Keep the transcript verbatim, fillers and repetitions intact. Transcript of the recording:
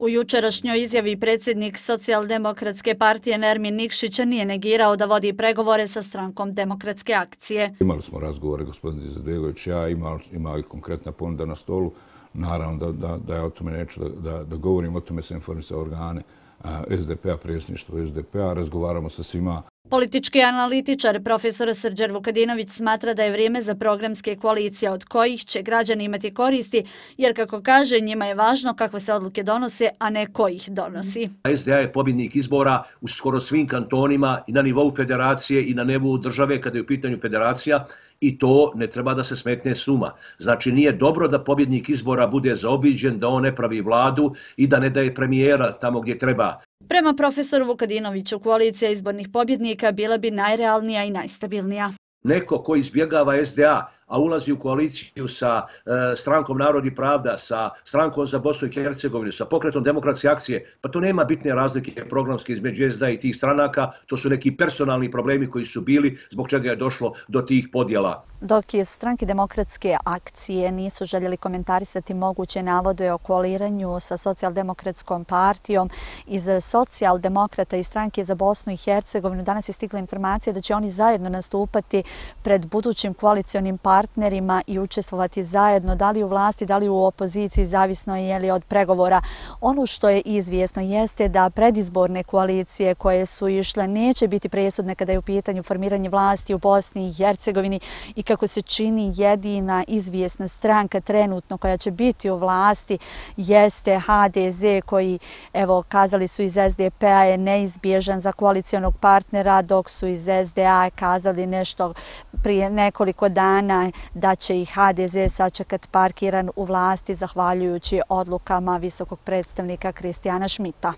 U jučerašnjoj izjavi predsjednik Socijaldemokratske partije Nermin Nikšić nije negirao da vodi pregovore sa strankom Demokratske akcije. Imali smo razgovore, gospodin Izetbegović, ja imao i konkretna ponuda na stolu. Naravno da, da, da ja o tome neću da, da, da govorim, o tome se informisao organe S D P-a, predsjedništvo S D P-a, razgovaramo sa svima. Politički analitičar profesor Srđan Vukadinović smatra da je vrijeme za programske koalicije od kojih će građani imati koristi, jer kako kaže, njima je važno kakve se odluke donose, a ne ko ih donosi. S D A je pobjednik izbora u skoro svim kantonima i na nivou federacije i na nivou države kada je u pitanju federacija. I to ne treba da se smetne s uma. Znači nije dobro da pobjednik izbora bude zaobiđen, da on ne pravi vladu i da ne daje premijera tamo gdje treba. Prema profesoru Vukadinoviću, koalicija izbornih pobjednika bila bi najrealnija i najstabilnija. Neko ko izbjegava S D A, a ulazi u koaliciju sa e, strankom Narod i pravda, sa strankom za Bosnu i Hercegovinu, sa pokretom Demokratske akcije, pa to nema bitne razlike programske između S D A i tih stranaka, to su neki personalni problemi koji su bili, zbog čega je došlo do tih podjela. Dok iz stranke Demokratske akcije nisu željeli komentarisati moguće navode o koaliranju sa Socijaldemokratskom partijom, iz Socijaldemokrata i stranke za Bosnu i Hercegovinu danas je stigla informacija da će oni zajedno nastupati pred budućim koalicionim partnerima i učestvovati zajedno, da li u vlasti, da li u opoziciji, zavisno je li od pregovora. Ono što je izvjesno jeste da predizborne koalicije koje su išle neće biti presudne kada je u pitanju formiranje vlasti u Bosni i Hercegovini i kako se čini jedina izvjesna stranka trenutno koja će biti u vlasti jeste H D Z koji, evo, kazali su iz S D P-a je neizbježan za koalicionog partnera, dok su iz S D A kazali nešto prije nekoliko dana da će i H D Z sačekati parkiran u vlasti zahvaljujući odlukama visokog predstavnika Kristijana Šmita.